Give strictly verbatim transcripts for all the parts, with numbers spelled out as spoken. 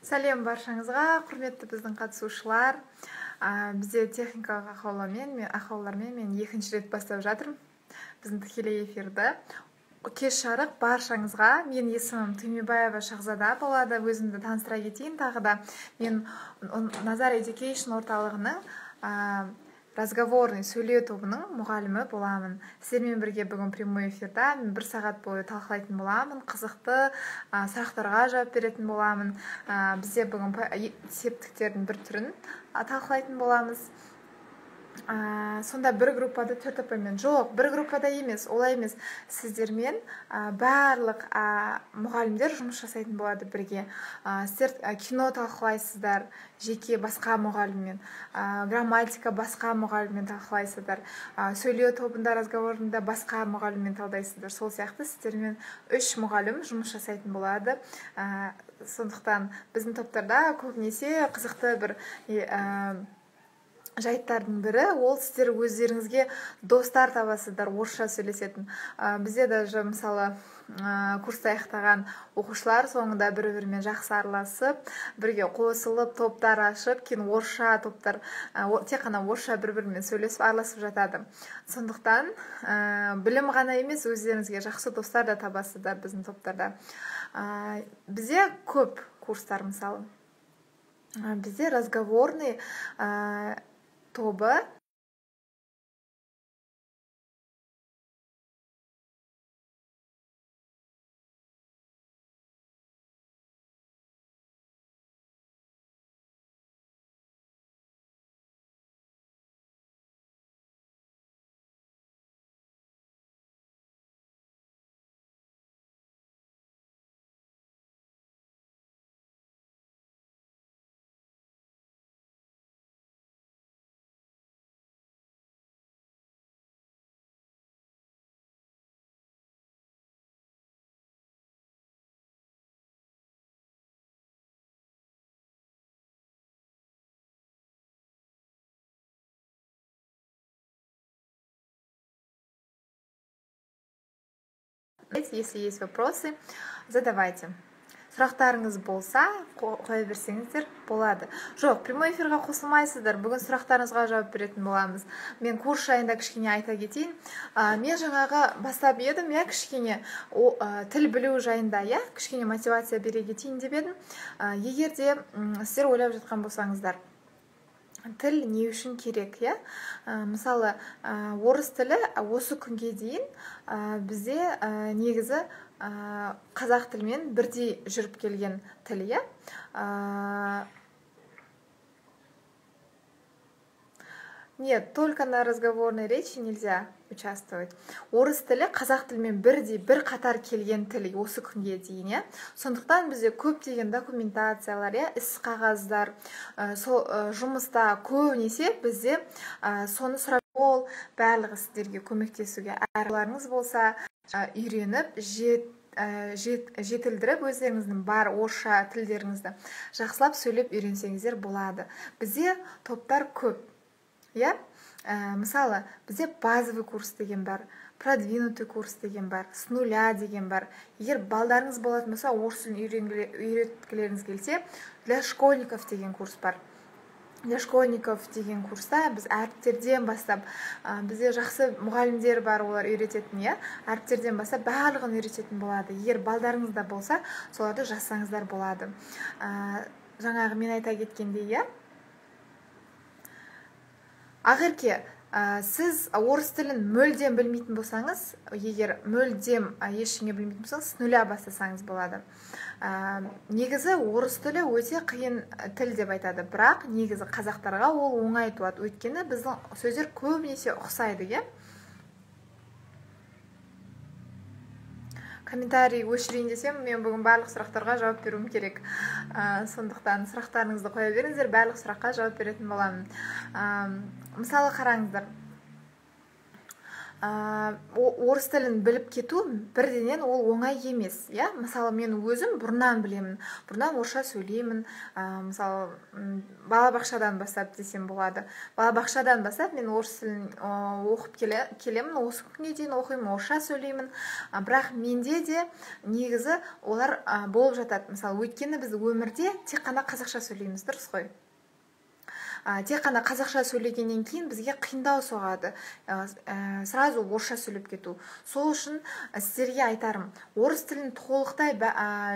Сәлем баршаңызға, құрметті біздің қатысушылар. Бізде техникалық ақаулармен, мен ақаулармен мен екінші рет бастап жатырмын біздің тікелей эфирді. Кеш жарық баршаңызға. Мен есімім Түймебаева Шахзада болады. Өзімді таныстыра кетейін тағы да. Мен Назар Education орталығының разговорный сөйлеу тобының мұғалімі боламын. Сіздермен бірге бүгін прямой эфирда мен бір сағат бойы талқылайтын боламын, қызықты сұрақтарға жауап беретін боламын. Бізде бүгін септіктердің бір түрін талқылайтын боламыз. Сонда бір группада төрт апаймен жоқ, бір группада емес, олай емес. Сіздермен барлық мұғалімдер жұмыс жасайтын болады бірге. Сіздер кино талқылайсыздар, жеке басқа мұғаліммен, грамматика басқа мұғаліммен талқылайсыздар, сөйлеу тобында, разговорында басқа мұғаліммен талдайсыздар. Сол сияқты сіздермен үш мұғалім жұмыс жасайтын болады. Сондықтан біздің топтарда көбінесе қызықты бір жайттардың бірі, ол сіздер өздеріңізге достар табасыздар, орысша сөйлесетін. Бізде даже мысалы курсты аяқтаған оқушылар соңында бір-бірімен жақсы араласып, бірге қосылып, топтар ашып, кейін орысша топтар, тек қана орысша бір-бірімен сөйлесіп, араласып жатады. Сондықтан білім ғана емес, өздеріңізге жақсы достар да табасыздар біздің топтарда. Бізде көп курстар, мысалы. Бізде разговорный тобы. Если есть вопросы, задавайте. Сұрақтарыңыз болса, қоя берсеңіздер болады. Жоқ, прямой эфирға қосылмайсыздар. Бүгін сұрақтарыңызға жауап беретін боламыз. Мен курс жайында кішкене айта кетейін. Мен жаңағы бастап едім, я кішкене тіл білу жайында, я кішкене мотивация бере кетейін деп едім. Егер де сіздер ойлап жатқан болсаңыздар, тіл не үшін керек, я? Мысалы, орыс тілі осы күнге дейін бізде негізі қазақ тілмен бірдей жүріп келген тіл, я? Нет, только на разговорной речи нельзя участвовать. Орыс тілі қазақ тілмен бірдей бір қатар келген тіл осы күнге дейін, я? Сондықтан бізде көптеген документациялар, я, іс қағаздар, жұмыста көбінесе бізде соны сұрап, ол барлығы сіздерге көмектесуге әрларыңыз болса, үйреніп, жетілдіріп, өздеріңіздің бар орысша тілдеріңізді жақсылап сөйлеп үйренсеңіздер болады. Бізде топтар көп. Я? Мысалы, бізде базовый курс деген бар, продвинутый курс деген бар, с нуля деген бар. Егер балдарыңыз болатын болса, орысын үйреткілеріңіз келсе, для школьников деген курс бар. Для школьников деген курста біз әріптерден бастап, бізде жақсы мұғалімдер бар, олар үйрететін, я? Әріптерден бастап барлығын үйрететін болады. Егер балдарыңызда болса, соларды жазсаңыздар болады. Жаңағы мен айта кеткендей, я? Ағерке, сіз орыс тілін мүлдем білмейтін болсаңыз, егер мүлдем ештеңе білмейтін болсаңыз, с нуля бастасаңыз болады. Негізі орыс тілі өте қиын тіл деп айтады, бірақ негізі қазақтарға ол оңай туады. Өйткені біздің сөздер көбінесе ұқсайды, я? Комментарий өшірейін десем, мен бүгін барлық сұрақтарға жауап беруім керек. Сондықтан сұрақтарыңызды қоя беріңіздер, барлық сұраққа жауап беретін боламын. Мысалы қараңыздар. орыс тілін біліп кету бірденен ол оңай емес, иә. Мысалы мен өзім бұрыннан білемін, бұрыннан орысша сөйлеймін. Мысалы балабақшадан бастап десем болады. Балабақшадан бастап мен орыс тілін оқып келемін, осы күнге дейін оқимын, орысша сөйлеймін. Бірақ менде де негізі олар болып жатады. Мысалы өйткені біз өмірде тек қана қазақша сөйлейміз, дұрыс қой. Тек қана қазақша сөйлегеннен кейін бізге қиындау соғады, сразу орысша сөйлеп кету. Сол үшін сіздерге айтарым, орыс тілін толықтай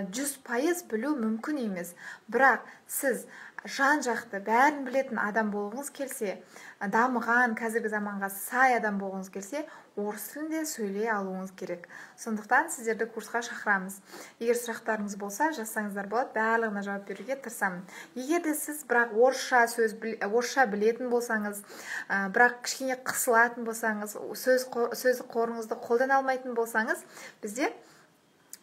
жүз пайыз білу мүмкін емес. Бірақ сіз жан-жақты бәрін білетін адам болғыңыз келсе, дамыған қазіргі заманға сай адам болғыңыз келсе, орыс тілінде сөйлей алуыңыз керек. Сондықтан сіздерді курсқа шақырамыз. Егер сұрақтарыңыз болса, жазсаңыздар болады, барлығына жауап беруге тырысамын. Егер де сіз бірақ орысша сөз орысша білетін болсаңыз, бірақ кішкене қысылатын болсаңыз, сөз сөз қорыңызды қолдана алмайтын болсаңыз, бізде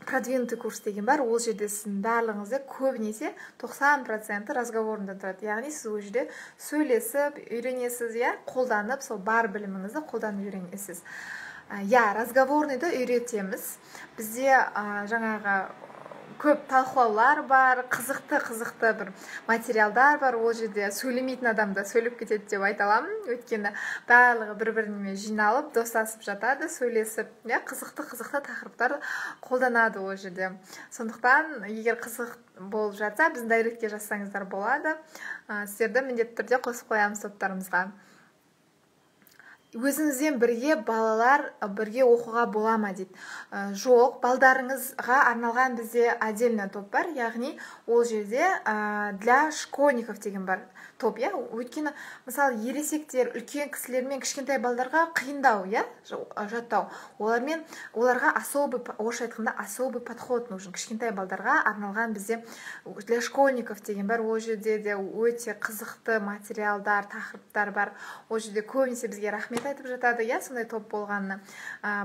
продвинутый курс деген бар. Ол жерде сіздің барлығыңызды көбінесе тоқсан проценті разговордан тұрады. Яғни сіз ол жерде сөйлесіп, үйренесіз, я қолданып, сол бар біліміңізді қолданып үйренесіз. Я разговорныйды үйретеміз. Бізде жаңағы көп талқылаулар бар, қызықты-қызықты бір материалдар бар. Ол жерде сөйлемейтін адам да сөйлеп кетеді деп айта аламын. Өйткені барлығы бір-біріне жиналып, достасып жатады, сөйлесіп, қызықты-қызықты тақырыптар қолданады ол жерде. Сондықтан, егер қызық болып жатса, біздің дайректке жазсаңыздар болады. Сіздерді міндетті түрде қосып қоямыз топтарымызға. Өзіңізден бірге балалар бірге оқуға бола ма дейді. Жоқ, балдарыңызға арналған бізде отдельный топ бар, яғни ол жерде для школьников деген бар топ, я. Өйткені, мысалы, ересектер, үлкен кісілермен кішкентай балдарға қиындау, я, жаттау. Олармен, оларға особый, орысша айтқанда особый подход нужен. Кішкентай балдарға арналған бізде для школьников деген бар. Ол жерде де өте қызықты материалдар, тақырыптар бар. Ол жерде көбінесе бізге рахмет айтып жатады, я, сондай топ болғанына.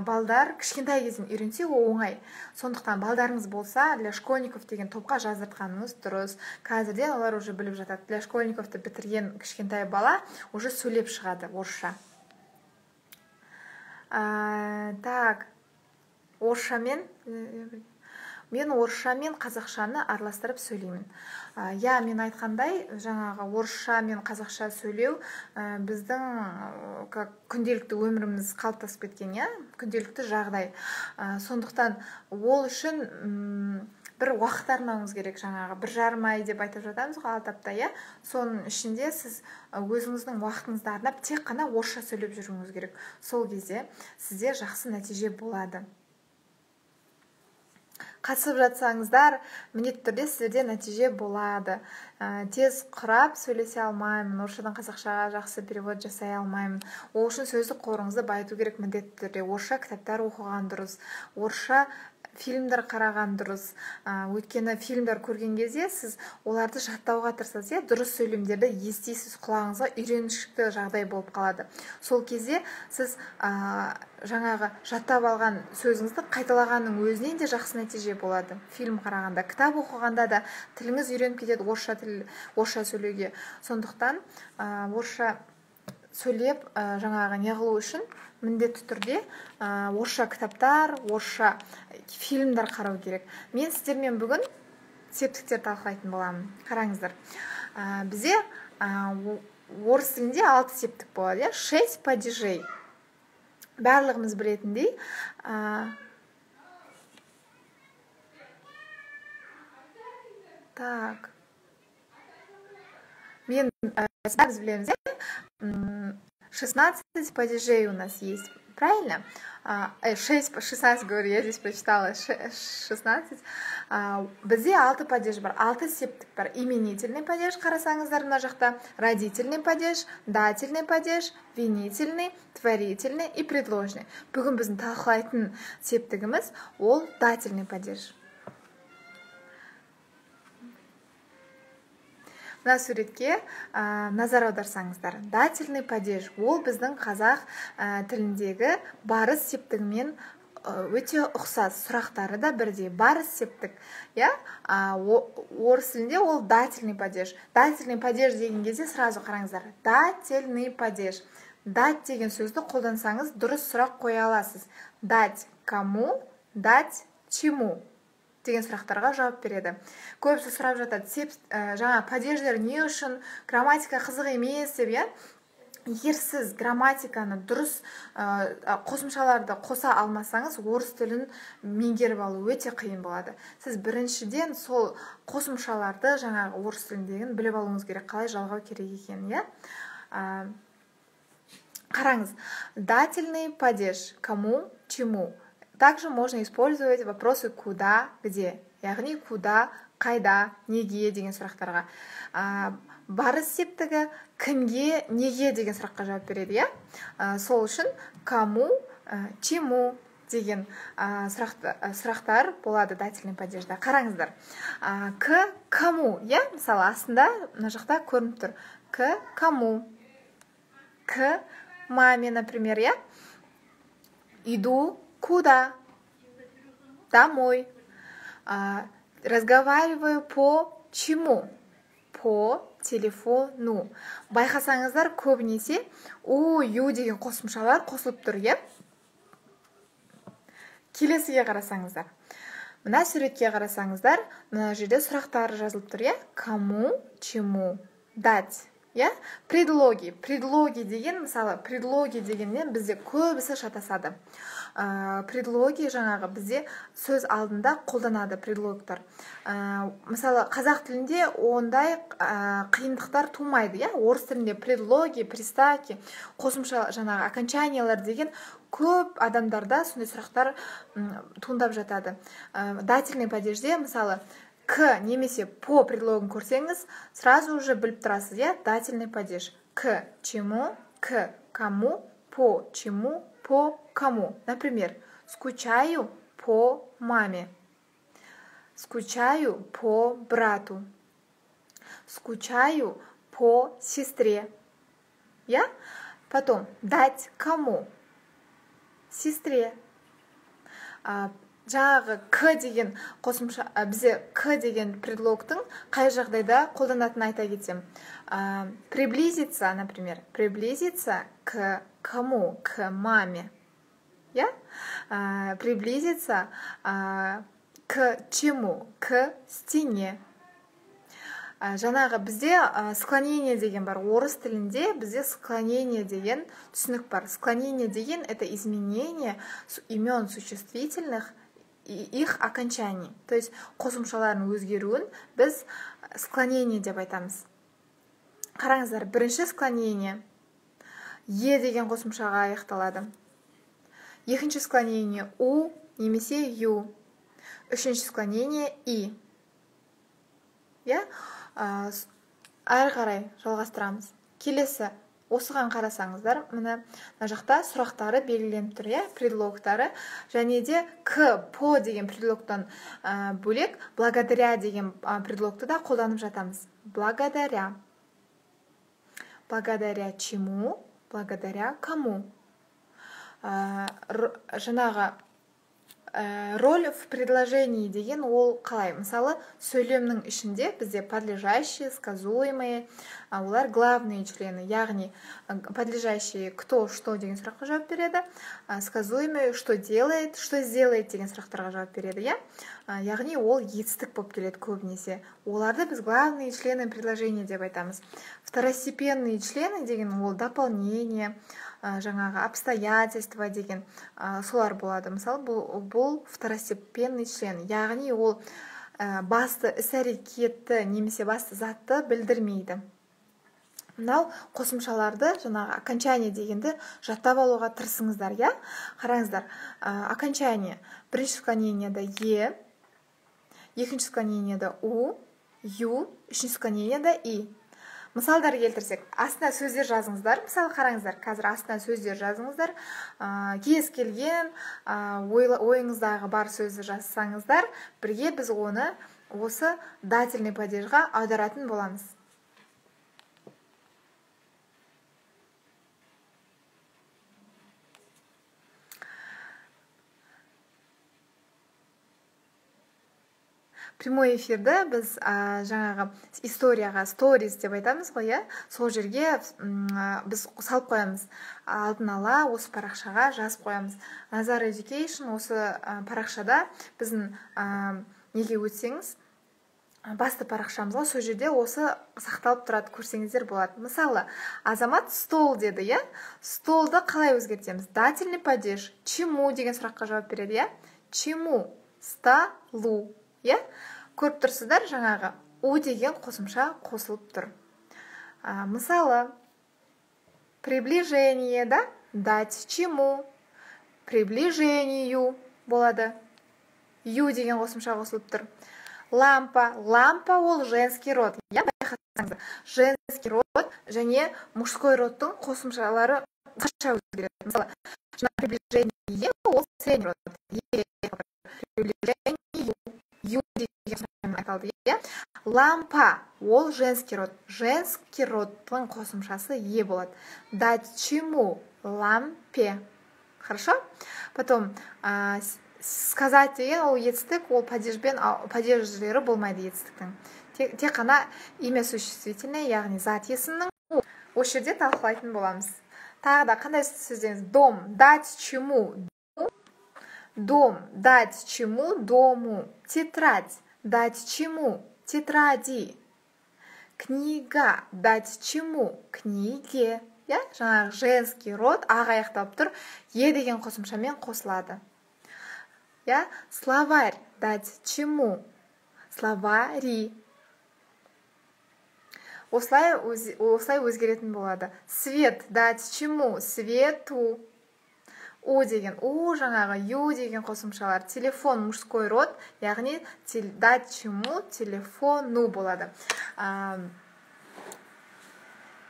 Балдар кішкентай кезден үйренсе, ол оңай. Сондықтан балдарыңыз болса, для школьников деген топқа жаздыртқаныңыз дұрыс. Қазірден олар уже біліп жатады. Для школьниковты бітірген кішкентай бала уже сөйлеп шығады орысша. Так, орысшамен мен орысша мен қазақшаны араластырып сөйлеймін. Я, мен айтқандай, жаңағы орысша мен қазақша сөйлеу біздің күнделікті өміріміз қалыптасып кеткен, я, күнделікті жағдай. Сондықтан ол үшін бір уақыт арнауыңыз керек, жаңағы бір жарым ай деп айтып жатамыз ғой, алты апта, я. Соның ішінде сіз өзіңіздің уақытыңызды арнап тек қана орысша сөйлеп жүруіңіз керек. Сол кезде сізде жақсы нәтиже болады. Қатысып жатсаңыздар, міндетті түрде сіздерде нәтиже болады. Тез құрап сөйлесе алмаймын, орысшадан қазақшаға жақсы перевод жасай алмаймын. Ол үшін сөздік қорыңызды байыту керек міндетті түрде. Орысша кітаптар оқыған дұрыс, орысша фильмдер қараған дұрыс. Өйткені фильмдер көрген кезде сіз оларды жаттауға тырысасыз, дұрыс сөйлемдерді естисіз, құлағыңызға үйреншікті жағдай болып қалады. Сол кезде сіз жаңағы жаттап алған сөзіңізді қайталағанның өзінен де жақсы нәтиже болады. Фильм қарағанда, кітап оқығанда да тіліңіз үйреніп кетеді орысша тіл, орысша сөйлеуге. Сондықтан орысша сөйлеп жаңағы неғылу үшін міндетті түрде орысша кітаптар, орысша фильмдер қарау керек. Мен сіздермен бүгін септіктер талқылайтын боламын. Қараңыздар. Бізде орыс тілінде алты септік болады, шесть падежей. Барлығымыз білетіндей, так. Мен біз білеміз, шестнадцать падежей у нас есть. Правильно? шесть, шестнадцать говорю, я здесь прочитала, шестнадцать. Бізде алты падеж бар, алты септік бар. Именительный падеж, қарасаңыздар мына жақта, родительный падеж, дательный падеж, винительный, творительный и предложный. Бүгін біздің талқылайтын септігіміз ол дательный падеж. Мына суретке назар аударсаңыздар. Дательный падеж ол біздің қазақ тіліндегі барыс септігімен өте ұқсас. Сұрақтары да бірдей. Барыс септік. Орыс тілінде ол дательный падеж. Дательный падеж деген кезде сразу қараңыздар. Дательный падеж. дать деген сөзді қолдансаңыз дұрыс сұрақ қоя аласыз. Дать кому, дать чему деген сұрақтарға жауап береді. Көбісі сұрап жатады, сеп, ә, жаңа падеждер не үшін, грамматика қызық емес деп, иә? Егер сіз грамматиканы дұрыс ә, қосымшаларды қоса алмасаңыз, орыс тілін меңгеріп алу өте қиын болады. Сіз біріншіден сол қосымшаларды жаңағы орыс тіліндегін біліп алуыңыз керек, қалай жалғау керек екенін, иә? Ә, Қараңыз, дательный падеж кому, чему. Также можно использовать вопросы куда, где. Яғни куда, қайда, неге деген сұрақтарға. А, барыс септігі кімге, неге деген сұраққа жауап береді, иә? А, сол үшін кому, а, чему деген а, сұрақты, а, сұрақтар болады дательный падежда. Қараңыздар. А, к, кому, иә? Мысалы, астында мына жақта көрініп тұр. К, кому. К, маме, например, я иду куда? Домой. А, разговариваю по чему? По телефону. Байқасаңыздар, көбінесе у, ю деген қосымшалар қосылып тұр, е? Келесіге қарасаңыздар. Мына суретке қарасаңыздар, мына жерде сұрақтар жазылып тұр, е? Кому, чему, дать. Я? Предлоги. Предлоги деген, мысалы, предлоги дегеннен бізде көбісі шатасады. Ә, предлоги жаңағы бізде сөз алдында қолданады предлогтар. Ә, мысалы, қазақ тілінде ондай ә, қиындықтар тумайды. Я? Орыс тілінде предлоги, приставки, қосымша жаңағы окончаниялар деген көп адамдарда сондай сұрақтар туындап жатады. Ә, дательный падежде, мысалы, к немесе по предлогын көрсеңіз, сразу уже біліп тұрасыз, я? Дательный падеж. К чему, к кому, по чему, по кому. Например, скучаю по маме. Скучаю по брату. Скучаю по сестре. Я? Потом, дать кому? Сестре. А, жаңағы к деген қосымша, бізде к деген предлогтың қай жағдайда қолданатынын айта кетсем. А, приблизиться, например, приблизиться к кому? К маме. Я? А, приблизиться а, к чему? К стене. А, жаңағы бізде а, склонение деген бар. Орыс тілінде бізде склонение деген түсінік бар. Склонение деген это изменение имен существительных и их окончаний. То есть қосымшалардың өзгеруін біз склонение деп айтамыз. Қараңыздар, бірінші склонение е деген қосымшаға аяқталады. Екінші склонение у немесе ю. Үшінші склонение и. Я? Әрі қарай жалғастырамыз. Келесі осыған қарасаңыздар, мына жақта сұрақтары белгіленіп тұр, иә, предлогтары, және де к, по деген предлогтан ә, бөлек благодаря деген предлогты да қолданып жатамыз. Благодаря. Благодаря чему? Благодаря кому? Ә, жаңағы ә, роль в предложении деген ол қалай? Мысалы, сөйлемнің ішінде бізде подлежащие, сказуемые, олар главные члены, яғни подлежащие кто, что деген сұраққа жауап береді, сказуемые что делает, что сделает деген сұрақтарға жауап береді, я? Яғни ол етістік болып келеді көбінесе. Оларды біз главные члены предложения деп айтамыз. Второстепенные члены деген ол дополнение, жаңағы обстоятельства деген солар болады. Мысалы, бұл, бұл второстепенный член, яғни ол басты іс-әрекетті немесе басты затты білдірмейді. Мынау қосымшаларды, жаңағы окончание дегенді жаттап алуға тырысыңыздар, я? Қараңыздар, окончание бірінші склонениеда е, екінші склонениеда у, ю, үшінші склонениеда и. Мысалдар келтірсек, астына сөздер жазыңыздар. Мысалы, қараңыздар, қазір астына сөздер жазыңыздар. Кез келген ойыңыздағы бар сөзді жазсаңыздар, бірге біз оны осы дательный падежға аударатын боламыз. прямой эфирді біз ә, жаңағы историяға сторис деп айтамыз ғой, иә, сол жерге біз салып қоямыз, алдын ала осы парақшаға жазып қоямыз. Назар Education осы ә, парақшада біздің ә, неге өтсеңіз, басты парақшамызға сол жерде осы сақталып тұрады, көрсеңіздер болады. Мысалы, Азамат стол деді, иә? Столды қалай өзгертеміз? Дательный падеж. Чему деген сұраққа жауап береді, иә? Чему? Столу. Иә? Көріп тұрсыздар, жаңағы у деген қосымша қосылып тұр. А, мысалы, приближение, да? Дать чему? Приближению болады. Ю деген қосымша қосылып тұр. Лампа. Лампа ол женский род. Я байқасаңыздар. Женский род және мужской родтың қосымшалары қаша өзгереді. Мысалы, приближение ол средний род. Приближение ю деген айтылды. Лампа ол женский род. Женский родтың қосымшасы е болады. Дать чему? Лампе. Хорошо? Потом а, сказать деген ол етістік, ол падежбен, падеждері болмайды етістіктің. Тек, тек қана имя существительное, яғни зат есімнің осы жерде талқылайтын боламыз. Тағы да қандай сөздеріңіз? Дом, дать чему? Дом, дать чему? Дому. Тетрадь, дать чему? Тетради. Книга, дать чему? Книге. Я? Жаңағы женский род ақ аяқталып тұр, е деген қосымшамен қосылады. Я? Словарь, дать чему? Словари. Осылай, өз, осылай өзгеретін болады. Свет, дать чему? Свету. У деген у, жаңағы ю деген қосымшалар. Телефон, мужской род, яғни дать чему? Телефону болады. А,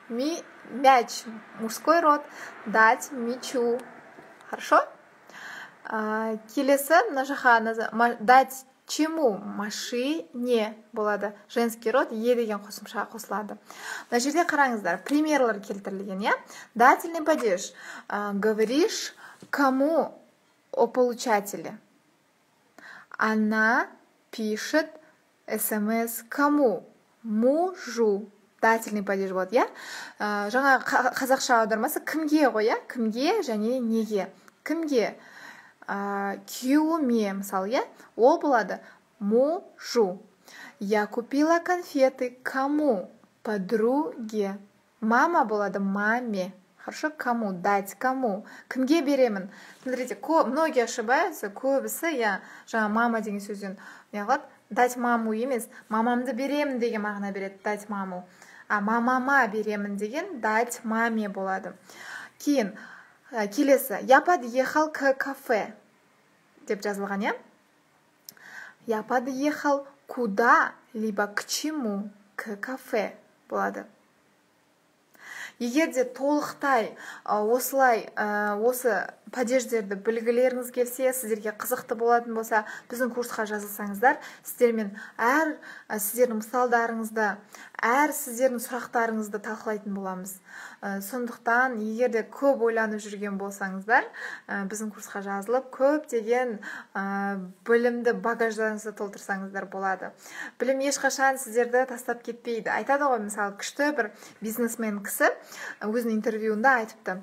ми, мяч, мужской род, дать мячу. Хорошо? А, келесі, мына жаққа дать чему? Машине болады. Женский род е деген қосымша қосылады. Мына жерде қараңыздар, примерлар келтірілген, иә? Дательный падеж. А, говоришь кому о получателе? Она пишет смс кому? Мужу. Дательный падеж болады, иә? А, жаңа қазақша аудармасы кімге ғой, иә? Кімге және неге? Кімге? А, күйеуіме, мысалы, иә? Ол болады мужу. Я купила конфеты кому? Подруге. Мама болады маме. Хорошо, кому? Дать кому? Кімге беремін? Смотрите, многие ошибаются, көбісі, я жаңа мама деген сөзден неғылады, дать маму емес, мамамды беремін деген мағына береді, дать маму. А мамама беремін деген дать маме болады. Кейін, келесі, я подъехал к кафе деп жазылған, я? Я подъехал куда, либо к чему? К кафе болады. Егер де толықтай осылай осы падеждерді білгілеріңіз келсе, сіздерге қызықты болатын болса, біздің курсқа жазылсаңыздар, сіздермен әр сіздердің мысалдарыңызды, әр сіздердің сұрақтарыңызды талқылайтын боламыз. Сондықтан, егер де көп ойланып жүрген болсаңыздар, біздің курсқа жазылып, көп деген білімді багаждарыңызды толтырсаңыздар болады. Білім ешқашан сіздерді тастап кетпейді. Айтады ғой, мысалы, күшті бір бизнесмен кісі өзінің интервьюында айтыпты.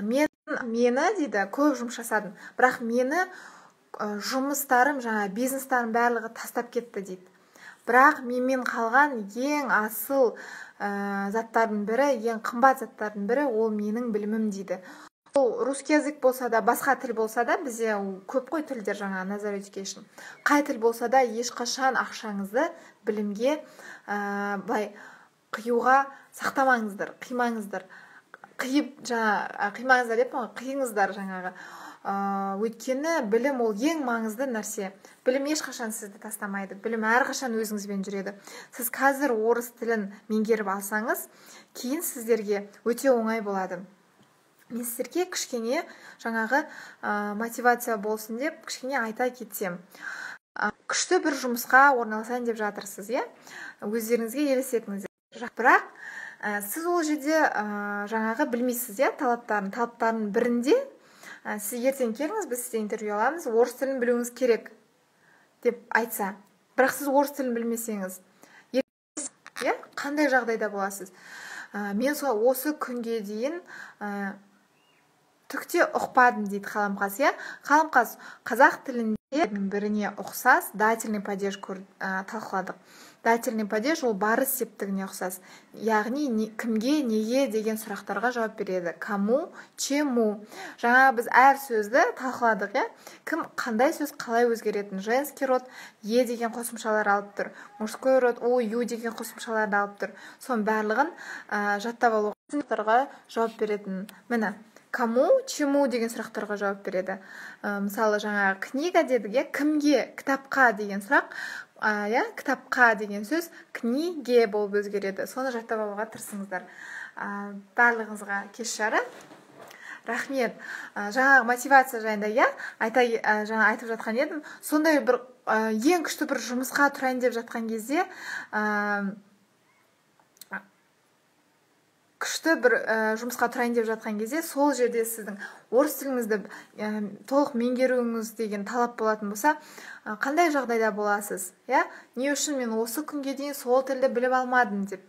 Мен мені дейді көп жұмыс жасадым, бірақ мені жұмыстарым, жаңа бизнестарым барлығы тастап кетті дейді. Бірақ менмен қалған ең асыл ә, заттардың бірі, ең қымбат заттардың бірі ол менің білімім дейді. Ол русский язык болса да, басқа тіл болса да, бізде көп қой тілдер жаңа Назар Education. Қай тіл болса да, ешқашан ақшаңызды білімге ә, былай қиюға сақтамаңыздар, қимаңыздар. Қиып, жаңа, қимаңыздар деп, қиыңыздар жаңағы. Өйткені білім ол ең маңызды нәрсе. Білім ешқашан сізді тастамайды. Білім әрқашан өзіңізбен жүреді. Сіз қазір орыс тілін меңгеріп алсаңыз, кейін сіздерге өте оңай болады. Мен сіздерге кішкене жаңағы мотивация болсын деп кішкене айта кетсем. Күшті бір жұмысқа орналасайын деп жатырсыз, иә? Өздеріңізге елестетіңіздер. Бірақ сіз ол жерде жаңағы білмейсіз, иә, талаптарын. Талаптардың бірінде сіз ертең келіңіз, біз сізде интервью аламыз, орыс тілін білуіңіз керек деп айтса, бірақ сіз орыс тілін білмесеңіз, иә, қандай жағдайда боласыз? ә, мен сол осы күнге дейін ә, түкте ұқпадым дейді Қаламқас. иә, Қаламқас, қазақ тілінде біріне ұқсас дательный падеж ә, талқыладық. Дательный падеж ол барыс септігіне ұқсас, яғни не, кімге, неге деген сұрақтарға жауап береді. Кому, чему. Жаңа біз әр сөзді талқыладық, иә? Кім, қандай сөз қалай өзгеретін? Женский род е деген қосымшалар алып тұр, мужской род у, ю деген қосымшаларды алып тұр. Соның барлығын ә, жаттап алуға сұрақтарға жауап беретін. Міне, кому, чему деген сұрақтарға жауап береді. ә, мысалы жаңа книга дедік, иә? Кімге, кітапқа деген сұрақ, ә, иә, кітапқа деген сөз книге болып өзгереді. Соны жаттап алуға тырысыңыздар. ә, барлығыңызға кеш жары. Рахмет. ә, жаңағы мотивация жайында, иә, айта, ә, жаңа айтып жатқан едім. Сондай бір ә, ең күшті бір жұмысқа тұрайын деп жатқан кезде, ә, күшті бір ә, жұмысқа тұрайын деп жатқан кезде, сол жерде сіздің орыс тіліңізді ә, толық меңгеруіңіз деген талап болатын болса, ә, қандай жағдайда боласыз? иә? Не үшін мен осы күнге дейін сол тілді біліп алмадым деп.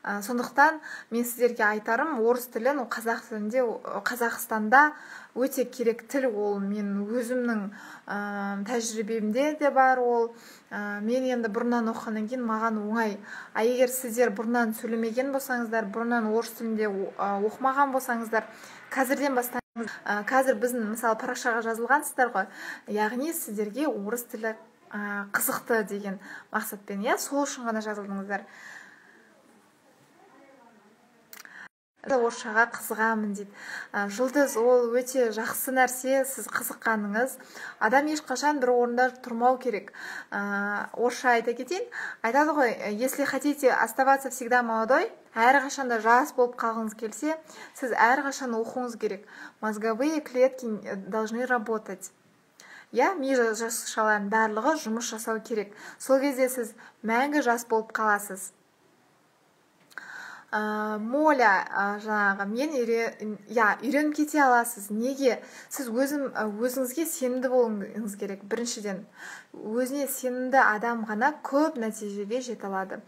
ә, сондықтан мен сіздерге айтарым, орыс тілін қазақ тілінде, Қазақстанда өте керек тіл. Ол мен өзімнің ә, тәжірибемде де бар. Ол ә, мен енді бұрыннан оқығаннан кейін маған оңай. А егер сіздер бұрыннан сөйлемеген болсаңыздар, бұрыннан орыс тілінде оқымаған болсаңыздар, қазірден бастаңыз. ә, қазір біздің мысалы парақшаға жазылғансыздар ғой, яғни сіздерге орыс тілі ә, қызықты деген мақсатпен, иә, сол үшін ғана жазылдыңыздар. Орысшаға қызығамын дейді. Жұлдыз, ол өте жақсы нәрсе, сіз қызыққаныңыз. Адам ешқашан бір орында тұрмау керек. Орысша айта кетейін. Айтады ғой, если хотите оставаться всегда молодой, әрқашанда жас болып қалғыңыз келсе, сіз әрқашан оқуыңыз керек. Мозговые клетки должны работать. иә, ми жасушаларының барлығы жұмыс жасау керек. Сол кезде сіз мәңгі жас болып қаласыз. ә, Моля, ә, жаңағы мен иә, үйреніп кете аласыз. Неге? Сіз өзім, өзіңізге сенімді болуыңыз керек. Біріншіден, өзіне сенімді адам ғана көп нәтижеге жете алады.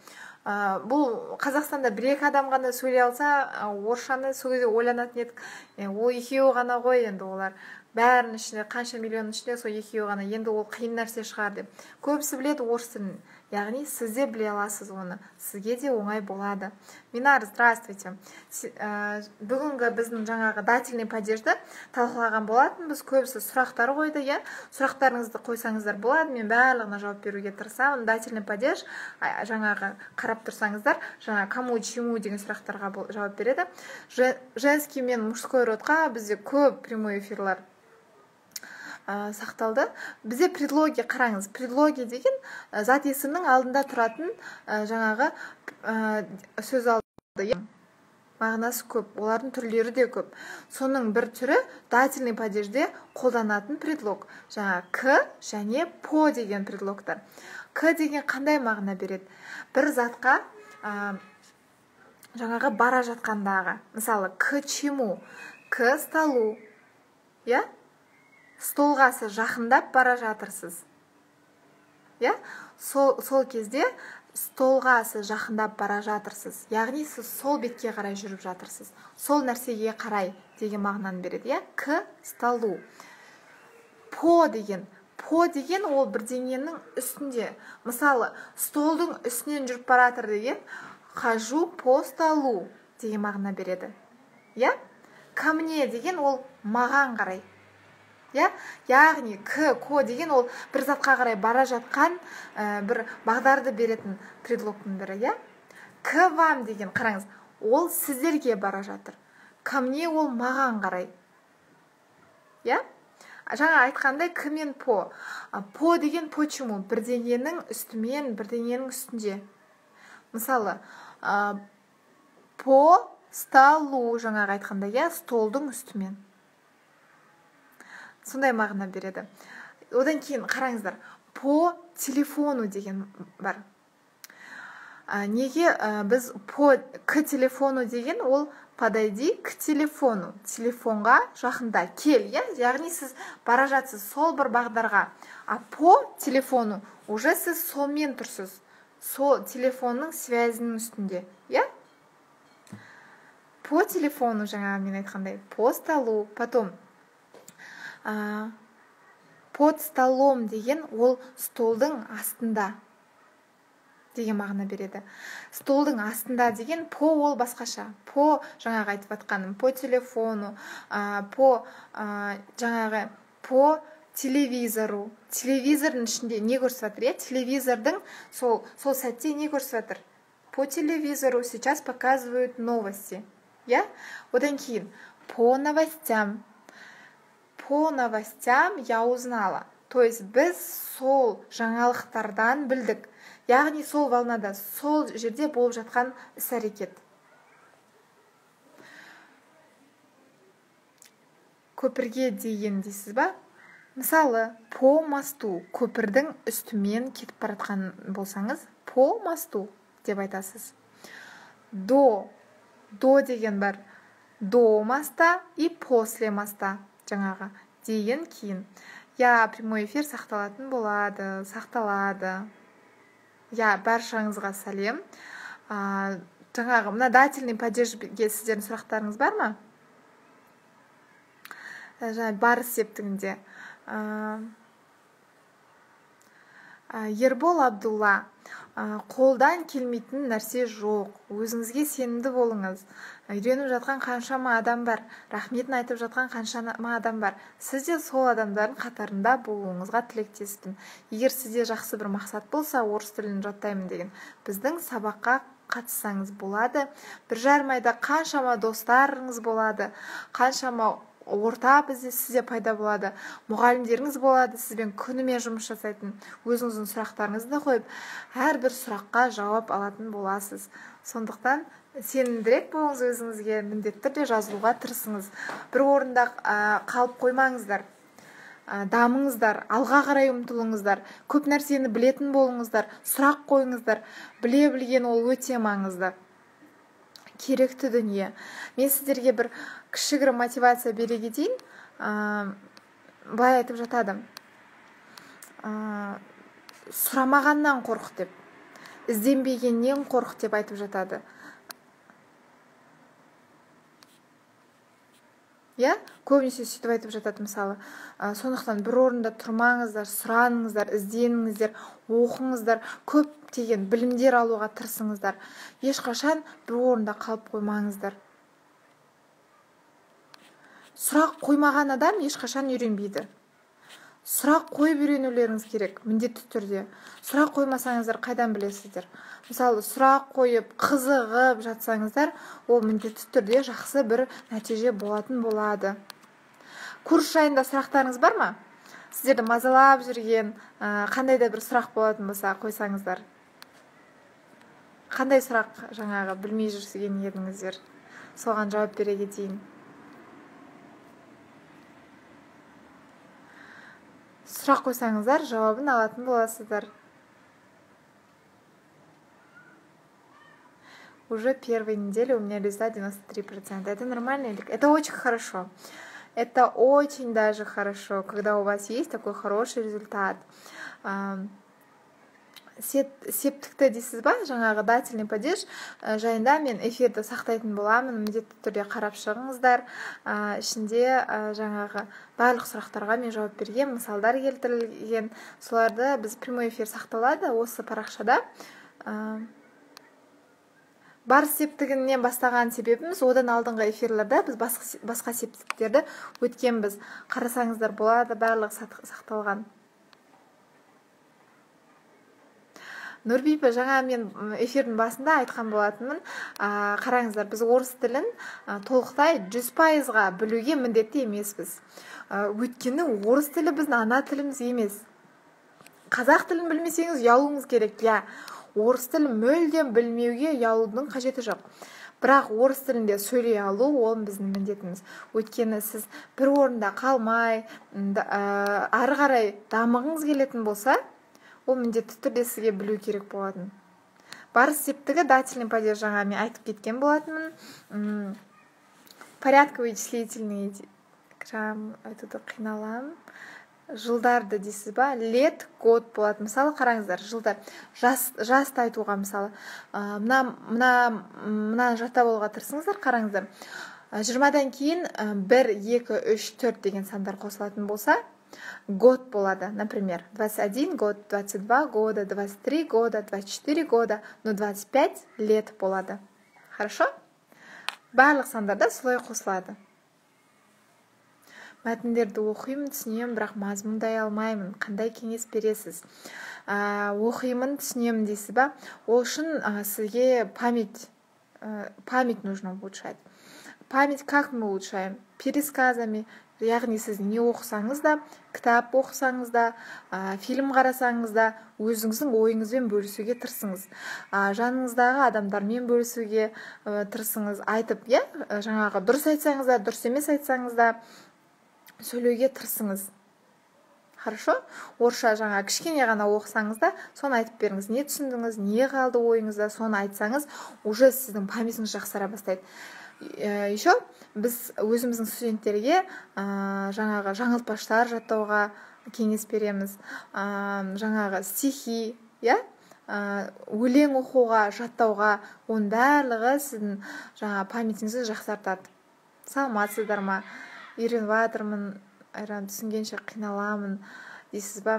ә, Бұл Қазақстанда бір-екі адам ғана сөйлей алса, орысшаны сол кезде ойланатын едік. Ол екеуі ғана ғой, енді олар бәрінің ішінде, қанша миллионның ішінде сол екеуі ғана, енді ол қиын нәрсе шығар деп. Көбісі біледі орыс тілін. Яғни сіз де біле аласыз оны. Сізге де оңай болады. Минар, здравствуйте. Бүгінгі біздің жаңағы дательный падежді талқылаған болатын. Біз көбісі сұрақтар қойды, иә? Сұрақтарыңызды қойсаңыздар болады. Мен барлығына жауап беруге тырысамын. Дательный падеж жаңағы қарап тұрсаңыздар, жаңа кому, чему деген сұрақтарға жауап береді. Женский мен мужской родқа бізде көп прямой эфирлар Ә, сақталды. Бізде предлоги қараңыз. Предлоги деген ә, зат есімнің алдында тұратын ә, жаңағы ә, сөз алды. Мағынасы көп, олардың түрлері де көп. Соның бір түрі дательный падежде қолданатын предлог. Жаңа к және по деген предлогтар. К деген қандай мағына береді? Бір затқа ә, жаңағы бара жатқандағы. Мысалы, к чему? К столу. Я? Столға сіз жақындап бара жатырсыз. иә? Сол, сол кезде столға сіз жақындап бара жатырсыз. Яғни сіз сол бетке қарай жүріп жатырсыз. Сол нәрсеге қарай деген мағынаны береді. иә? К столу. По деген. По деген ол бірдеңенің үстінде. Мысалы, столдың үстінен жүріп баратыр деген хожу по столу деген мағына береді. иә? Ко мне деген ол маған қарай. иә? Яғни к, ко деген ол бір затқа қарай бара жатқан ә, бір бағдарды беретін предлогтың бірі. иә? К вам деген, қараңыз, ол сіздерге бара жатыр. Ко мне ол маған қарай. иә? Жаңа айтқандай к мен по. По деген почему? Бірдеңенің үстімен, бірдеңенің үстінде. Мысалы, ә, по столу, жаңағы айтқандай, иә? Столдың үстімен. Сондай мағына береді. Одан кейін қараңыздар, по телефону деген бар. ә, Неге ә, біз по к телефону деген ол подойди к телефону. Телефонға жақында кел, иә? Яғни сіз бара жатсыз сол бір бағдарға. А по телефону уже сіз солмен тұрсыз, сол телефонның связінің үстінде, иә? По телефону, жаңа мен айтқандай, по столу, потом а, под столом деген ол столдың астында деген мағына береді. Столдың астында деген по ол басқаша. По жаңағы айтып атқаным, по телефону, а, по а, жаңағы по телевизору. Телевизордың ішінде не көрсіп жатыр, е? Телевизордың сол, сол сәтте не көрсіп жатыр? По телевизору сейчас показывают новости. Я? Одан кейін по новостям. По новостям я узнала. То есть біз сол жаңалықтардан білдік. Яғни сол волнада, сол жерде болып жатқан іс-әрекет. Көпірге деген дейсіз ба? Мысалы, по мосту, көпірдің үстімен кетіп баратқан болсаңыз, по мосту деп айтасыз. До, до деген бар. До моста и после моста жаңағы деген кейін. Я прямой эфир сақталатын болады, сақталады. Я баршаңызға сәлем. А, жаңағы мына дательный падежге сіздердің сұрақтарыңыз бар ма? Жаңа бар септігінде. А, Ербол Абдулла, қолдан келмейтін нәрсе жоқ. Өзіңізге сенімді болыңыз. Үйреніп жатқан қаншама адам бар. Рахметін айтып жатқан қаншама адам бар. Сіз де сол адамдардың қатарында болуыңызға тілектеспін. Егер сізде жақсы бір мақсат болса, орыс тілін жаттаймын деген, біздің сабаққа қатыссаңыз болады. Бір жарым айда қаншама достарыңыз болады, қаншама орта бізде сізде пайда болады, мұғалімдеріңіз болады, сізбен күнімен жұмыс жасайтын, өзіңіздің сұрақтарыңызды қойып, әрбір сұраққа жауап алатын боласыз. Сондықтан сенімдірек болыңыз өзіңізге, міндетті түрде жазылуға тырысыңыз. Бір орында қалып қоймаңыздар, дамыңыздар, алға қарай ұмтылыңыздар, көп нәрсені білетін болыңыздар, сұрақ қойыңыздар. Біле білген ол өте маңызды, керекті дүние. Мен сіздерге бір кішігірім мотивация бере кетейін. Былай айтып жатады. Сұрамағаннан қорық деп, ізденбегеннен қорық деп айтып жатады. Я көбінесе сөйтіп айтып жатады, мысалы. Сондықтан бір орында тұрмаңыздар, сұраныңыздар, ізденіңіздер, оқыңыздар, көптеген білімдер алуға тырысыңыздар. Ешқашан бір орында қалып қоймаңыздар. Сұрақ қоймаған адам ешқашан үйренбейді. Сұрақ қойып үйренулеріңіз керек, міндетті түрде. Сұрақ қоймасаңыздар қайдан білесіздер? Мысалы, сұрақ қойып, қызығып жатсаңыздар, ол міндетті түрде жақсы бір нәтиже болатын болады. Курс жайында сұрақтарыңыз бар ма? Сіздерді мазалап жүрген, қандай да бір сұрақ болатын болса, қойсаңыздар. Қандай сұрақ жаңағы білмей жүрген едіңіздер? Соған жауап бере кетейін. Сұрақ қойсаңыздар, жауабын алатын боласыздар. Уже первой неделе у меня результат девяносто три процента. Это нормально? Это очень хорошо. Это очень даже хорошо, когда у вас есть такой хороший результат. Септікті дейсіз ба, жаңағы дательный падеж жайында мен эфирді сақтайтын боламын, міндетті түрде қарап шығыңыздар. Ішінде жаңағы барлық сұрақтарға мен жауап берген, мысалдар келтірілген. Соларды біз прямой эфир сақталады осы парақшада. Бар септігінен бастаған себебіміз, одан алдыңғы эфирлерді біз басқа септіктерді өткен біз. Қарасаңыздар болады, барлық сақталған. Нұрбипа, жаңа мен эфирдің басында айтқан болатынмын, қараңыздар, біз орыс тілін толықтай жүз пайызға білуге міндетті емеспіз. Өйткені орыс тілі біздің ана тіліміз емес. Қазақ тілін білмесеңіз ұялуыңыз керек, я. Орыс тілін мүлдем білмеуге ұялудың қажеті жоқ. Бірақ орыс тілінде сөйлей алу ол біздің міндетіміз. Өйткені сіз бір орында қалмай, ары қарай дамығыңыз келетін болса, ол міндетті түрде сізге білу керек болатын. Бар септігі дательный падеж, жаңа мен айтып кеткен болатынмын. Порядковый вычислительный грамм, айтуды қиналам. жылдарды дейсіз ба, лет, год болады. Мысалы қараңыздар, жылдар, жас, жасты айтуға мысалы мына мына мына жаттап алуға тырысыңыздар. Қараңыздар, жиырмадан кейін бір, екі, үш, төрт деген сандар қосылатын болса, год болады. Например, двадцать один год, двадцать два года, двадцать три года, двадцать четыре года, но двадцать пять лет болады. Хорошо? Барлық сандарда солай қосылады. Мәтіндерді оқимын, түсінемін, бірақ мазмұндай алмаймын. Қандай кеңес бересіз? Ә, оқимын, түсінемін дейсіз ба? Ол үшін ә, сізге память, ә, память нужно улучшать. Память как мы улучшаем? Пересказами. Яғни сіз не оқысаңыз да, кітап оқысаңыз да, ә, фильм қарасаңыз да, өзіңіздің ойыңызбен бөлісуге тырысыңыз. Ә, жаныңыздағы адамдармен бөлісуге ә, тырысыңыз. Айтып, е, жаңағы дұрыс айтсаңыз да, дұрыс емес айтсаңыз да, сөйлеуге тырысыңыз. Хорошо? Орысша жаңа кішкене ғана оқысаңыз да, соны айтып беріңіз. Не түсіндіңіз, не қалды ойыңызда, соны айтсаңыз, уже сіздің памятіңіз жақсара бастайды. Еще біз өзіміздің студенттерге жаңағы жаңылтпаштар жаттауға кеңес береміз. Жаңағы стихи, өлең оқуға, жаттауға, оның барлығы сіздің жаңа памятіңізді жақсартады. Саламатсыздар ма? Үйреніп жатырмын, айран түсінгенше қиналамын дейсіз ба?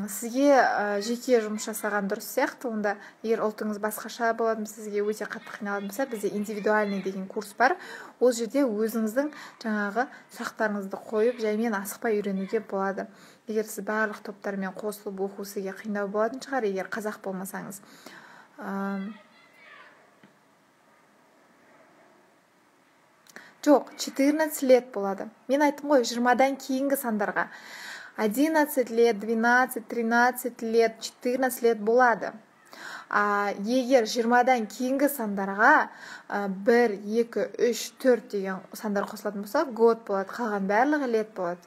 Сізге жеке жұмыс жасаған дұрыс сияқты. Онда егер ұлтыңыз басқаша болатын, сізге өте қатты қиналатын болса, бізде индивидуальный деген курс бар. Ол жерде өзіңіздің жаңағы сұрақтарыңызды қойып, жаймен асықпай үйренуге болады. Егер сіз барлық топтармен қосылып оқу сізге қиындау болатын шығар, егер қазақ болмасаңыз. Жоқ, четырнадцать лет болады. Мен айттым ғой, жиырмадан кейінгі сандарға. одиннадцать лет, двенадцать, тринадцать лет, четырнадцать лет болады. А егер жиырмадан кейінгі сандарға бір, екі, үш, төрт деген сандар қосылатын болса, год болады, қалған барлығы лет болады.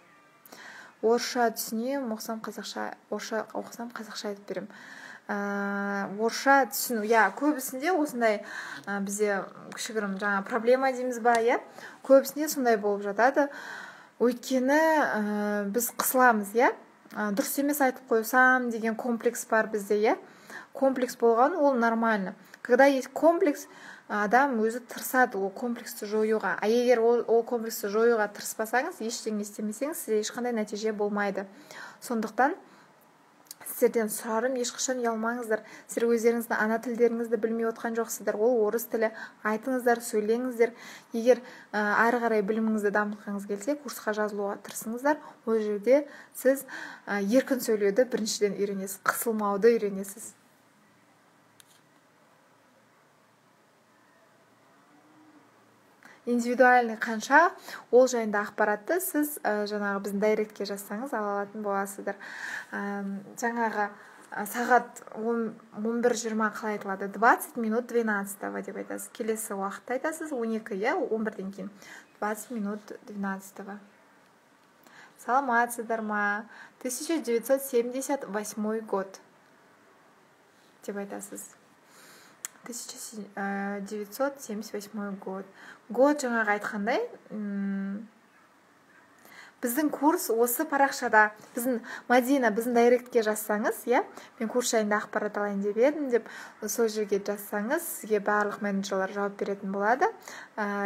Орысша түсінем, оқысам қазақша, орысша оқысам қазақша айтып берем. Орысша түсіну, я көбісінде осындай бізде кішігірім жаңа проблема дейміз ба, я көбісінде сондай болып жатады. Өйткені біз қысыламыз, я дұрыс емес айтып қойсам деген комплекс бар бізде, я комплекс болған, ол нормально. Когда есть комплекс, адам өзі тырысады ол комплексті жоюға. А егер ол, ол комплексті жоюға тырыспасаңыз, ештеңе істемесеңіз, сізде ешқандай нәтиже болмайды. Сондықтан сіздерден сұрарым, ешқашан ұялмаңыздар. Сіздер өздеріңіздің ана тілдеріңізді білмей отқан жоқсыздар. Ол орыс тілі. Айтыңыздар, сөйлеңіздер. Егер ары қарай біліміңізді дамытқыңыз келсе, курсқа жазылуға тырысыңыздар. Ол жерде сіз еркін сөйлеуді біріншіден үйренесіз, қысылмауды үйренесіз. Индивидуальный қанша, ол жайында ақпаратты сіз жаңағы біздің дайректке жазсаңыз ала алатын боласыздар. Жаңағы сағат он бір жиырма қалай айтылады? двадцать минут двенадцатого деп айтасыз. Келесі уақытта айтасыз он екі, я он бірден кейін. двадцать минут двенадцатого. Саламатсыздар ма? тысяча девятьсот семьдесят восьмой год деп айтасыз. тысяча девятьсот семьдесят восьмой год. Год жаңағы айтқандай, біздің курс осы парақшада, біздің Мадина, біздің дайректке жазсаңыз, я, мен курс жайында ақпарат алайын деп едім деп, сол жерге жазсаңыз, сізге барлық менеджерлер жауап беретін болады.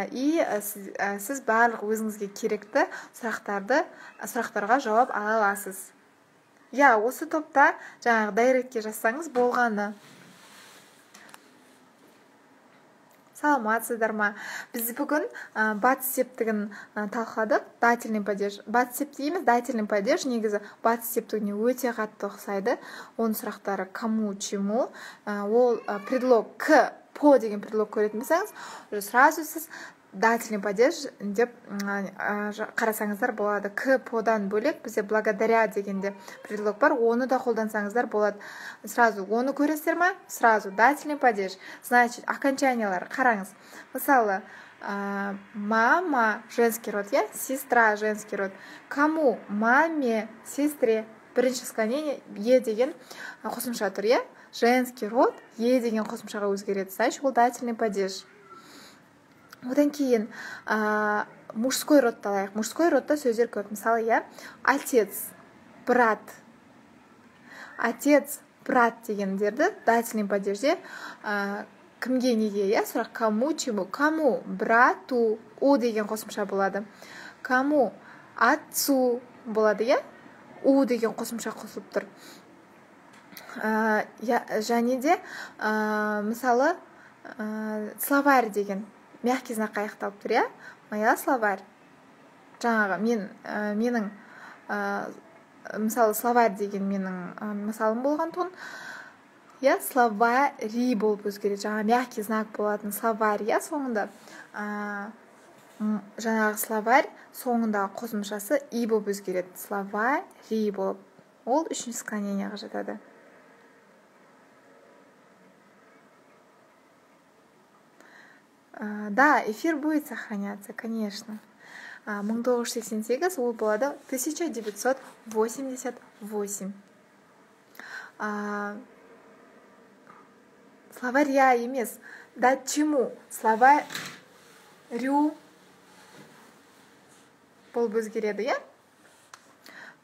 И сіз, сіз барлық өзіңізге керекті сұрақтарды, сұрақтарға жауап ала аласыз. Я, осы топта жаңағы дайректке жазсаңыз болғаны. Саламатсыздар ма? Біз бүгін батыс септігін талқыладық. Дательный падеж. Батыс септі емес, дательный падеж негізі батыс септігіне өте қатты ұқсайды. Оның сұрақтары кому, чему. Ол предлог к, по деген предлог көретін болсаңыз, сразу сіз дательный падеж деп қарасаңыздар болады. К, подан бөлек бізде благодаря дегенде предлог бар, оны да қолдансаңыздар болады. Сразу оны көресіздер ма? Сразу дательный падеж. Значит, окончаниялар қараңыз. Мысалы, мама женский род, я, сестра женский род. Кому? Маме, сестре. Бірінші склонение е деген қосымша тұр, я. Женский род е деген қосымшаға өзгереді. Значит, ол дательный падеж. Одан кейін ә, мужской родты алайық. Мужской родта сөздер көп. Мысалы, я, отец. брат. Отец, брат дегендерді дательный падежде ә, кімге неге, иә, сұрақ кому, чему, кому, брату, у деген қосымша болады. Кому, отцу болады, иә, у деген қосымша қосылып тұр. Ә, және де ә, мысалы ә, словарь деген мягкий знак аяқталып тұр, иә, моя словарь. Жаңағы мен ә, менің ә, мысалы словарь деген менің ә, мысалым болған тұғын, иә, словари болып өзгереді. Жаңа мягкий знак болатын словарь, иә, соңында ә, жаңағы словарь соңындағы қосымшасы и болып өзгереді. Словари болып. Ол үшінші склонениеға жатады. Ә, да, эфир будет сохраняться, конечно. мың тоғыз жүз сексен сегіз ол болады тысяча девятьсот восемьдесят восемь. А, словаря емес. Да чему? Словарю болып өзгереді, иә?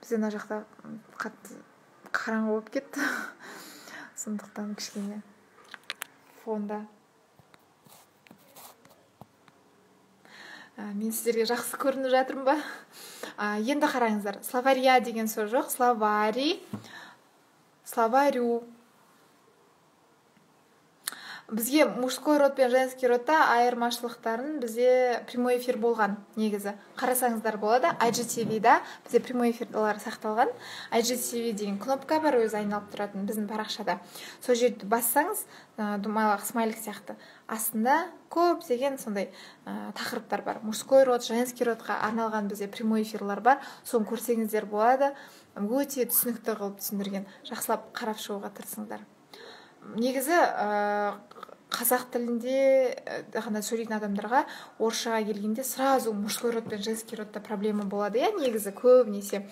Бізде мына жақта қатты қараңғы болып кетті. Сондықтан кішкене фонда. Мен сіздерге жақсы көрініп жатырмын ба? Енді қараңыздар. Словария деген сөз жоқ. Словари, словарю. Бізге мужской род пен женский родта айырмашылықтарын бізде прямой эфир болған негізі. Қарасаңыздар болады. ай джи ти ви-да бізде прямой эфирлер сақталған. ай джи ти ви деген кнопка бар, өзі айналып тұратын біздің парақшада. Сол жерді бассаңыз, думайлық смайлик сияқты, астында көп деген сондай ә, тақырыптар бар. Мужской род, женский родқа арналған бізде прямой эфирлер бар. Соны көрсеңіздер болады. Өте түсінікті қылып түсіндірген. Жақсылап қарап шығуға тырысыңдар. Негізі ә, қазақ тілінде ғана сөйлейтін адамдарға орысшаға келгенде сразу мужской род пен женский родта проблема болады, иә, негізі көбінесе.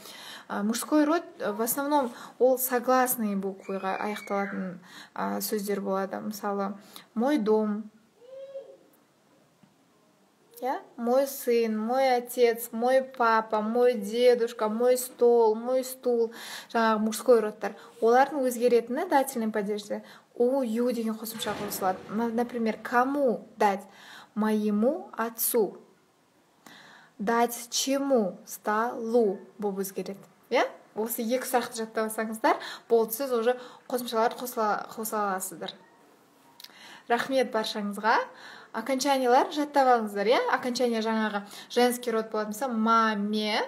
Ә, мужской род в основном ол согласный букваға аяқталатын ә, сөздер болады. Мысалы, мой дом, я? Мой сын, мой отец, мой папа, мой дедушка, мой стол, мой стул. Жаңағы мужской родтар. Олардың өзгеретіні дательный падежде у, ю деген қосымша қосылады. Например, кому дать? Моему отцу. Дать чему? Столу болып өзгереді. Я? Осы екі сұрақты жаттап алсаңыздар, болды, сіз уже қосымшаларды қоса аласыздар. Рахмет баршаңызға. Окончаниялар жаттап алыңыздар, иә? Окончание жаңағы женский род болады, мысалы, маме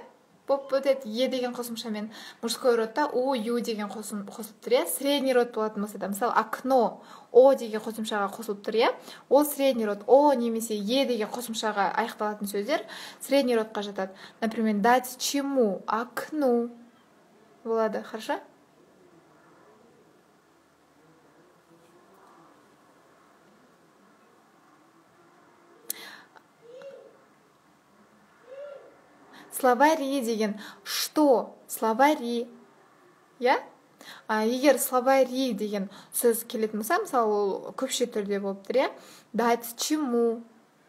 болып өтеді, е деген қосымшамен. Мужской родта у, ю деген қосылып тұр, иә? Средний род болатын болса да, мысалы, окно, о деген қосымшаға қосылып тұр, иә? Ол средний род, о немесе е деген қосымшаға аяқталатын сөздер средний родқа жатады. Например, дать чему? Окну болады, хорошо? Словари деген что? Словари. Я? А, егер словари деген сөз келетін болса, мысалы, ол көпше түрде болып тұр, иә? Дать чему?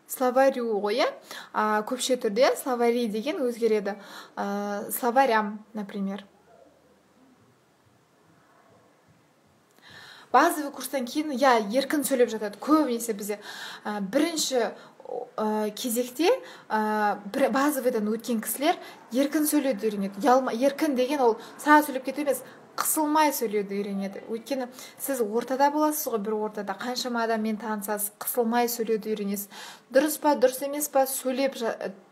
Словарю ғой, иә? А, көпше түрде словари деген өзгереді. А, словарям, например. Базовый курстан кейін, я, еркін сөйлеп жатады. Көбінесе бізде ә, бірінші ә, кезекте ә, базовыйдан өткен кісілер еркін сөйлеуді үйренеді. Еркін деген ол сразу сөйлеп кету емес, қысылмай сөйлеуді үйренеді. Өйткені сіз ортада боласыз ғой, бір ортада қаншама адаммен танысасыз, қысылмай сөйлеуді үйренесіз. Дұрыс па, дұрыс емес па, сөйлеп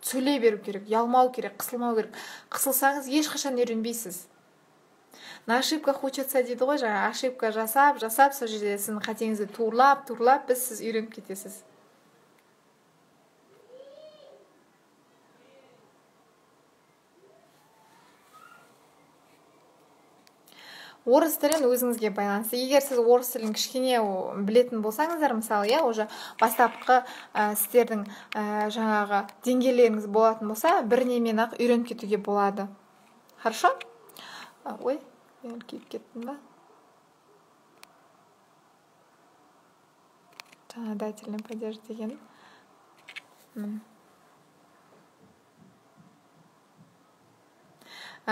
сөйлей беру керек, ұялмау керек, қысылмау керек. Қысылсаңыз ешқашан үйренбейсіз. На ошибках учатся дейді ғой, жаңа ошибка жасап, жасап, сол жерде сіздің қатеңізді турлап, турлап, біз сіз үйреніп кетесіз. Орыс тілін өзіңізге байланысты. Егер сіз орыс тілін кішкене білетін болсаңыздар, мысалы, я, уже бастапқы ә, сіздердің ә, жаңағы деңгейлеріңіз болатын болса, бір немен ақ үйреніп кетуге болады. Хорошо? Ой, мен киіп кеттім ба? Жаңа дательный падеж деген.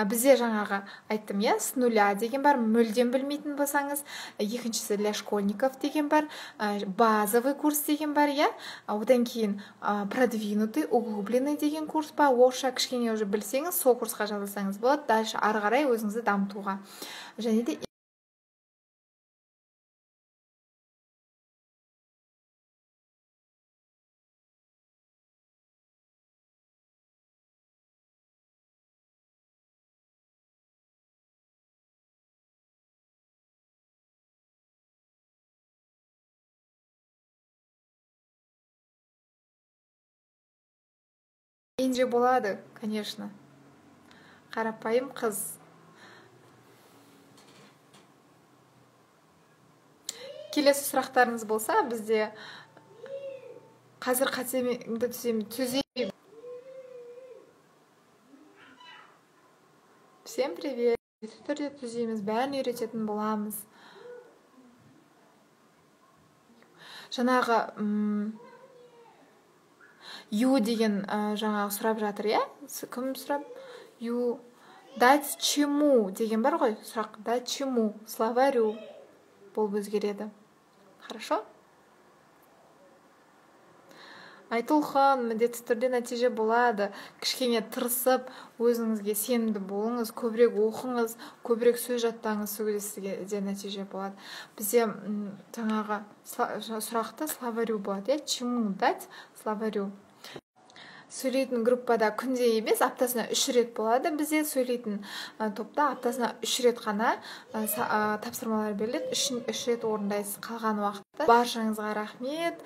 бізде жаңағы айттым, иә, с нуля деген бар, мүлдем білмейтін болсаңыз. Екіншісі для школьников деген бар, базовый курс деген бар, иә. Одан кейін продвинутый, углубленный деген курс бар. Орысша кішкене уже білсеңіз, сол курсқа жазылсаңыз болады. Дальше ары қарай өзіңізді дамытуға. Және де Енже болады, конечно. Қарапайым қыз. Келесі сұрақтарыңыз болса, бізде қазір қатемді түзеймін. Всем привет. Түрде түзейміз, бәрін үйрететін боламыз. Жаңағы ю деген жаңағы сұрап жатыр, иә? Кім сұрап? Ю. Дать чему деген бар ғой, сұрақ. Дать чему? Словарю болып өзгереді. Хорошо? Айтылған міндетті түрде нәтиже болады. Кішкене тырысып, өзіңізге сенімді болыңыз, көбірек оқыңыз, көбірек сөз жаттаңыз, сөйлесуге де нәтиже болады. Бізде жаңағы сұрақты словарю болады, иә? Чему дать словарю? Сөйлейтін группада күнде емес, аптасына үш рет болады. Бізде сөйлейтін топта аптасына үш рет қана тапсырмалар беріледі. Үш рет орындайсыз. Қалған уақытта баршаңызға рахмет.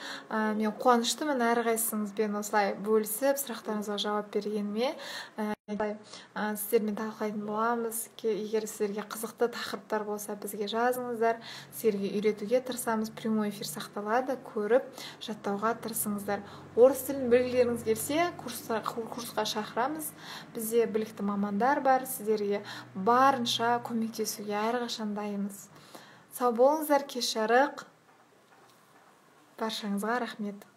Мен қуаныштымын әрқайсыңызбен осылай бөлісіп, сұрақтарыңызға жауап бергеніме. Сіздермен талқылайтын боламыз. Егер сіздерге қызықты тақырыптар болса, бізге жазыңыздар. Сіздерге үйретуге тырысамыз. Прямой эфир сақталады, көріп, жаттауға тырысыңыздар. Орыс тілін білгілеріңіз келсе, курсқа шақырамыз. Бізде білікті мамандар бар. Сіздерге барынша көмектесуге әрқашан дайынбыз. Сау болыңыздар, кеш жарық. Баршаңызға рахмет.